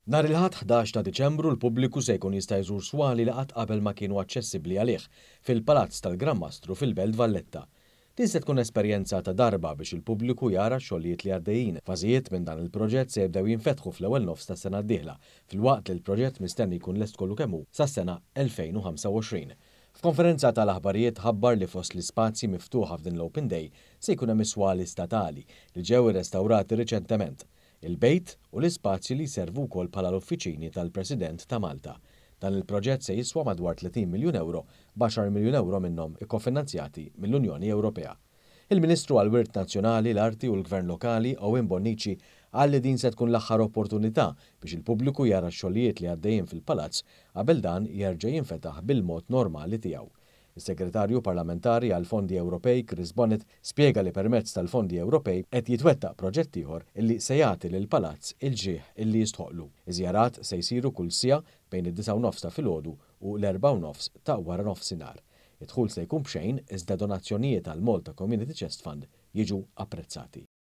Nhar il-Ħadd 11 ta' Diċembru l-pubbliku se jkun jista' jżur swali li qatt qabel ma kienu aċċessibbli għalih fil-Palazz tal-Gran Mastru fil-Belt Valletta. Din se tkun esperjenza ta' darba biex il-pubbliku jara x-xogħlijiet li għaddejjin. Fażijiet minn dan il-proġett se jibdew jinfetħu fl-ewwel nofs tas-sena d-dieħla, filwaqt li l-proġett mistenni jkun lest kollu kemm hu sas-sena 2025. F'konferenza tal-aħbarijiet ħabbar li fost l-ispazji miftuħa f'din l-Open Day se jkun hemm is-swali statali li ġew irrestawrati riċentement, il-bejt u l-ispazji li jservu wkoll bħala l-uffiċini tal-President ta' Malta. Dan il-proġett se jiswa madwar 30 miljun ewro, b'għaxar miljun ewro minnhom ikkofinanzjati mill-Unjoni Ewropea. Il-Ministru għall-Wirt Nazzjonali, l-Arti u l-Gvern Lokali, Owen Bonnici, qal li din se tkun l-aħħar opportunità biex il-pubbliku jara x-xogħlijiet li għaddejjin fil-Palazz qabel dan jerġa' jinfetaħ bil-mod normali tiegħu. Is-Segretarju Parlamentari għall-Fondi Ewropej Chris Bonett spjega li permezz tal-fondi Ewropej qed jitwettaq proġett ieħor illi se jagħti lill-Palazz il-ġieħ illi jistħoqqlu. Iż-żjarat se jsiru kull siegħa bejn id-disgħa u nofs ta' filgħodu u l-erbgħa u nofs ta' waranofsinhar. Id-dħul se jkun b'xejn iżda donazzjonijiet għall-Malta Community Chest Fund jiġu apprezzati.